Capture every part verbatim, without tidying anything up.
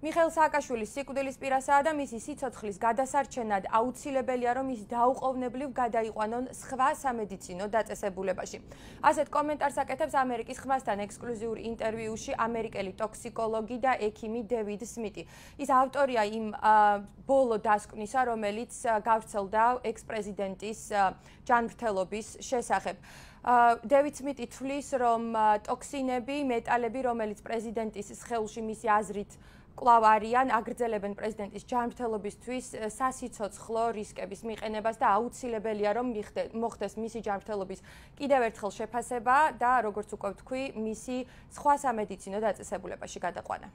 მიხეილ სააკაშვილის სიკვდილის პირასაა და მისი სიცოცხლის გადასარჩენად აუცილებელია, რომ ის დაუყოვნებლივ გადაიყვანონ სხვა სამედიცინო დაწესებულებაში. ასეთ კომენტარს აკეთებს ამერიკის ხმასთან ექსკლუზიურ ინტერვიუში ამერიკელი ტოქსიკოლოგი და ექიმი დევიდ სმიტი. ის ავტორია იმ ბოლო დასკვნისა, რომელიც გავრცელდა ექს-პრეზიდენტის ჯანმრთელობის შესახებ. დევიდ სმიტი თვლის, რომ ტოქსინები, მეტალები, რომელიც პრეზიდენტის სხეულში მისი აზრით კვლავ არიან, აგრძელებენ პრეზიდენტის ჯანმრთელობისთვის სასიცოცხლო რისკების მიყენებას და აუცილებელია, რომ მოხდეს მისი ჯანმრთელობის კიდევ ერთხელ შეფასება და, როგორც უკვე ვთქვი, მისი სხვა სამედიცინო დაწესებულებაში გადაყვანა.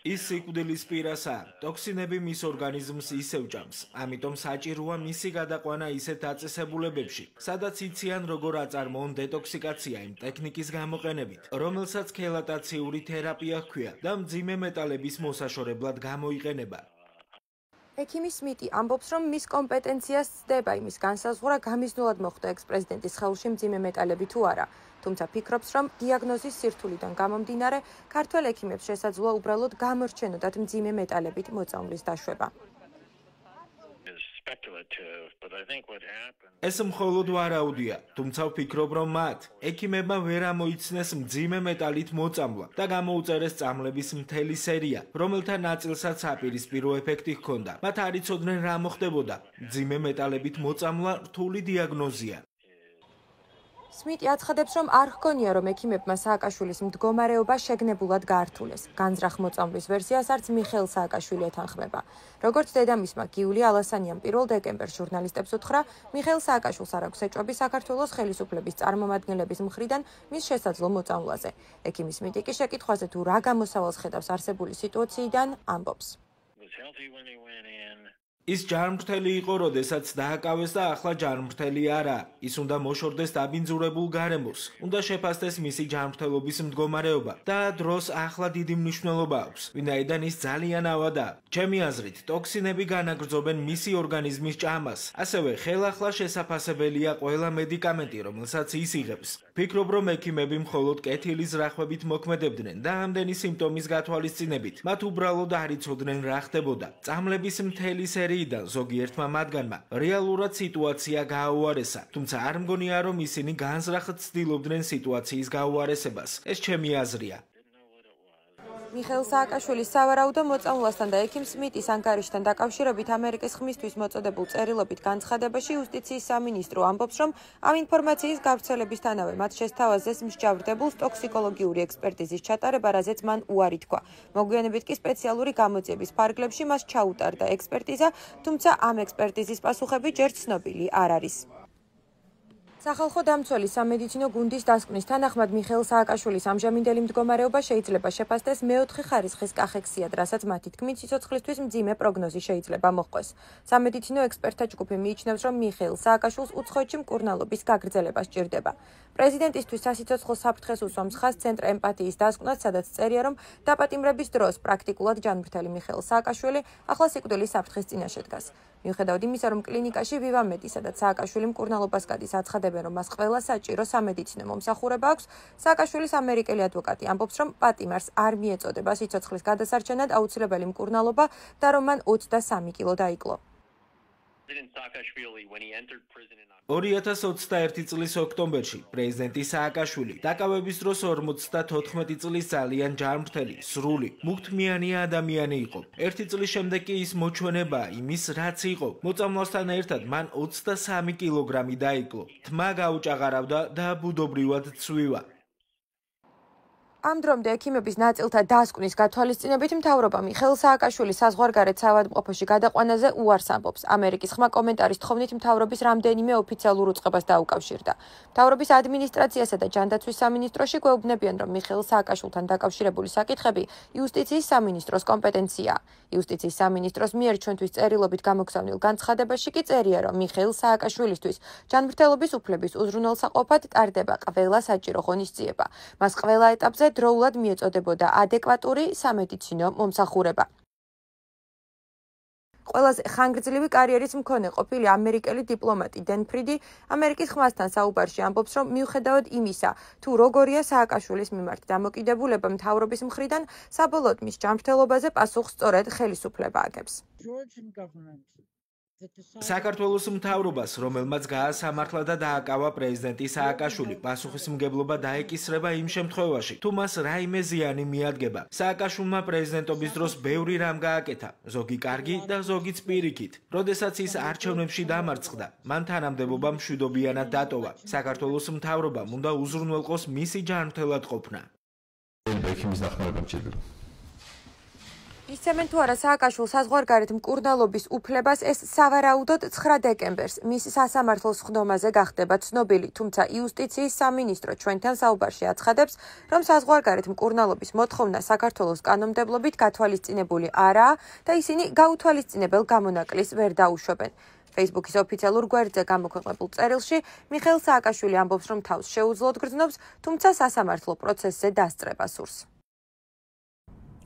ის სიკვდილის პირასაა. ტოქსინები მის ორგანიზმს ისევ ჭამს, ამიტომ საჭიროა მისი გადაყვანა ისეთ დაწესებულებებში, სადაც იციან როგორ აწარმოონ დეტოქსიკაცია იმ ტექნიკის გამოყენებით, რომელსაც ქელატაციური თერაპია ჰქვია და მძიმე მეტალების მოსაშორებლად გამოიყენება. ექიმი სმიტი ამბობს, რომ მის კომპეტენციას ცდება იმის განსაზღვრა, გამიზნულად მოხდა ექს-პრეზიდენტის სხეულში მძიმე მეტალები თუ არა. თუმცა ფიქრობს, რომ დიაგნოზის სირთულიდან გამომდინარე, ქართველ ექიმებს შესაძლოა უბრალოდ გამორჩენოდათ მძიმე მეტალებით მოწამვლის დაშვება. ეს მხოლოდ ვარაუდია, თუმცა ვფიქრობ, რომ მათ ექიმებმა ვერ ამოიცნეს მძიმე მეტალით მოწამვლა და გამოუწერეს წამლების მთელი სერია, რომელთა ნაწილსაც საპირისპირო ეფექტი ჰქონდა. მათ არ იცოდნენ რა მოხდებოდა. მძიმე მეტალებით მოწამვლა რთული დიაგნოზია. სმიტი აცხადებს, რომ არ ჰგონია, რომ ექიმებმა სააკაშვილის მდგომარეობა შეგნებულად გაართულეს. განზრახ მოწამვლის ვერსიას არც მიხეილ სააკაშვილი ეთანხმება. როგორც დედამისმა გიული ალასანიამ პირველ დეკემბერს ჟურნალისტებს უთხრა, მიხეილ სააკაშვილს არ აქვს ეჭვები საქართველოს ხელისუფლების წარმომადგენლების მხრიდან მის შესაძლო მოწამვლაზე. ექიმი სმიტი კი შეკითხვაზე თუ რა გამოსავალს ხედავს არსებული სიტუაციიდან, ამბობს. ის ჯანმრთელი იყო, როდესაც დააკავეს და ახლა ჯანმრთელი არა. ის უნდა მოშორდეს დაბინძურებულ გარემოს, უნდა შეფასდეს მისი ჯანმრთელობის მდგომარეობა და დროს ახლა დიდი მნიშვნელობა აქვს, ვინაიდან ის ძალიან ავადაა. ჩემი აზრით, ტოქსინები განაგრძობენ მისი ორგანიზმის ჭამას. ასევე ხელახლა შესაფასებელია ყველა მედიკამენტი, რომელსაც ის იღებს. ფიქრობ, რომ ექიმები მხოლოდ კეთილის რახვებით მოქმედებდნენ და ამდენი სიმპტომის გათვალისწინებით. მათ უბრალოდ არ იცოდნენ რა ხდებოდა. წამლების მთელი სერიიდან ზოგიერთმა მათგანმა რეალურად სიტუაცია გააუარესა, თუმცა არ მგონია, რომ ისინი განზრახად ცდილობდნენ სიტუაციის გაუარესებას. ეს ჩემი აზრია. მიხეილ სააკაშვილის სავარაუდო მოწამვლასთან და ექიმ სმიტის ანგარიშთან დაკავშირებით ამერიკის ხმისთვის მოწოდებულ წერილობით განცხადებაში იუსტიციის სამინისტრო ამბობს, რომ ამ ინფორმაციის გავრცელებისთანავე მათ შესთავაზეს მსჯავრდებულს ტოქსიკოლოგიური ექსპერტიზის ჩატარება, რაზეც მან უარი თქვა. მოგვიანებით კი სპეციალური გამოძიების ფარგლებში მას ჩაუტარდა ექსპერტიზა, თუმცა ამ ექსპერტიზის პასუხები ჯერ ცნობილი არ არის. სახალხო დამცველის სამედიცინო გუნდის დასკვნის თანახმად მიხეილ სააკაშვილის ამჟამინდელი მდგომარეობა შეიძლება შეფასდეს მეოთხე ხარისხის კახექსიად, რასაც მათი თქმით სიცოცხლისთვის მძიმე პროგნოზი შეიძლება მოჰყვეს. სამედიცინო ექსპერტთა ჯგუფი მიიჩნევს, რომ მიხეილ სააკაშვილს უცხოეთში მკურნალობის გაგრძელება სჭირდება. პრეზიდენტისთვის სასიცოცხლო საფრთხეს უსვამს ხაზს ცენტრ ემპათიის დასკვნას, სადაც წერია, რომ დაპატიმრების დროს პრაქტიკულად ჯანმრთელი მიხეილ სააკაშვილი ახლა სიკვდილის საფრთხის წინაშე დგას. მიუხედავად იმისა, რომ კლინიკაში ვივამედი, სადაც სააკაშვილი მკურნალობას გადის, აცხადებენ, რომ მას ყველა საჭირო სამედიცინო მომსახურება აქვს, სააკაშვილის ამერიკელი ადვოკატი ამბობს, რომ პატიმარს არ მიეწოდება სიცოცხლის გადასარჩენად აუცილებელი მკურნალობა და რომ მან ოცდასამი კილო დაიკლო. ორი ათას ოცდაერთი წლის ოქტომბერში პრეზიდენტი სააკაშვილი დაკავების დროს ორმოცდათოთხმეტი წლის ძალიან ჯანმრთელი, სრული, მუქთმიანი ადამიანი იყო. ერთი წლის შემდეგ კი ის მოჩვენებაა იმის, რაც იყო. მოწამვლასთან ერთად მან ოცდასამი კილოგრამი დაიკლო. თმა გაუჭაღარავდა და ბუდობრივად ცვივა. ამ დრომდე ექიმების ნაწილთა დასკვნის გათვალისწინებით მთავრობა მიხეილ სააკაშვილის საზღვარგარეთ საავადმყოფოში გადაყვანაზე უარს ამბობს. ამერიკის ხმა კომენტარის თხოვნით მთავრობის რამდენიმე ოფიციალურ უწყებას დაუკავშირდა. მთავრობის ადმინისტრაციასა და ჯანდაცვის სამინისტროში გვეუბნებიან, რომ მიხეილ სააკაშვილთან დაკავშირებული საკითხები იუსტიციის სამინისტროს კომპეტენციაა. იუსტიციის სამინისტროს მიერ ჩვენთვის წერილობით გამოგზავნილ განცხადებაში კი წერია, რომ მიხეილ სააკაშვილისთვის ჯანმრთელობის უფლების უზრუნველსაყოფად ტარდება ყველა საჭირო ღონისძიება. მას ყველა ეტაპზე დროულად მიეწოდებოდა ადეკვატური სამედიცინო მომსახურება. ყველაზე ხანგრძლივი კარიერის მქონე ყოფილი ამერიკელი დიპლომატი დენ ფრიდი ამერიკის ხმასთან საუბარში ამბობს, რომ მიუხედავად იმისა, თუ როგორია სააკაშვილის მიმართ დამოკიდებულება მთავრობის მხრიდან, საბოლოოდ მის ჯანმრთელობაზე პასუხს სწორედ ხელისუფლება აგებს. საქართველოს მთავრობას, რომელმაც გაასამართლა და დააკავა პრეზიდენტი სააკაშვილი, პასუხისმგებლობა დაეკისრება იმ შემთხვევაში, თუ მას რაიმე ზიანი მიადგება. სააკაშვილმა პრეზიდენტობის დროს ბევრი რამ გააკეთა, ზოგი კარგი და ზოგიც პირიქით. როდესაც ის არჩევნებში დამარცხდა, მან თანამდებობა მშვიდობიანად დატოვა. საქართველოს მთავრობამ უნდა უზრუნველყოს მისი ჯანმრთელად ყოფნა. ისცემენ თუ არა სააკაშვილს საზღვარგარეთ მკურნალობის უფლებას, ეს სავარაუდოდ ცხრა დეკემბერს მის სასამართლოს ხდომაზე გახდება ცნობილი, თუმცა იუსტიციის სამინისტრო ჩვენთან საუბარში აცხადებს, რომ საზღვარგარეთ მკურნალობის მოთხოვნა საქართველოს კანონმდებლობით გათვალისწინებული არაა და ისინი გაუთვალისწინებელ გამონაკლის ვერ დაუშვებენ. Facebook-ის ოფიციალურ გვერდზე გამოქვეყნებულ წერილში მიხეილ სააკაშვილი ამბობს, რომ თავს შეუძლოდ გრძნობს, თუმცა სასამართლო პროცესზე დასწრება სურს.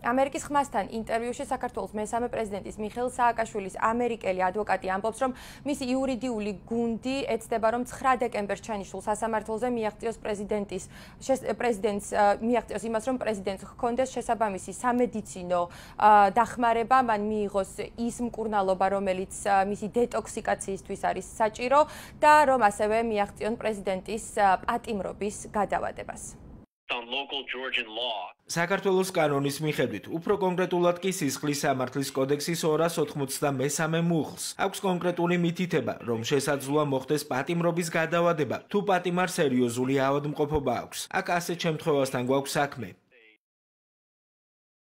ამერიკის ხმასთან ინტერვიუში საქართველოს მესამე პრეზიდენტის მიხეილ სააკაშვილის ამერიკელი ადვოკატი ამბობს, რომ მისი იურიდიული გუნდი ეცდება, რომ ცხრა დეკემბერს ჩანიშნულ სასამართლოზე მიაღწიოს პრეზიდენტის პრეზიდენტს მიაღწიოს იმას, რომ პრეზიდენტს ჰქონდეს შესაბამისი სამედიცინო დახმარება, მან მიიღოს ის მკურნალობა, რომელიც მისი დეტოქსიკაციისთვის არის საჭირო და რომ ასევე მიაღწიონ პრეზიდენტის პატიმრობის გადავადებას. საქართველოს კანონის მიხედვით, უფრო კონკრეტულად კი სისხლის სამართლის კოდექსის ორას ოთხმოცდამესამე მუხლს აქვს კონკრეტული მითითება, რომ შესაძლოა მოხდეს პატიმრობის გადავადება, თუ პატიმარს სერიოზული ავადმყოფობა აქვს. აქ ასეთ შემთხვევასთან გვაქვს საქმე.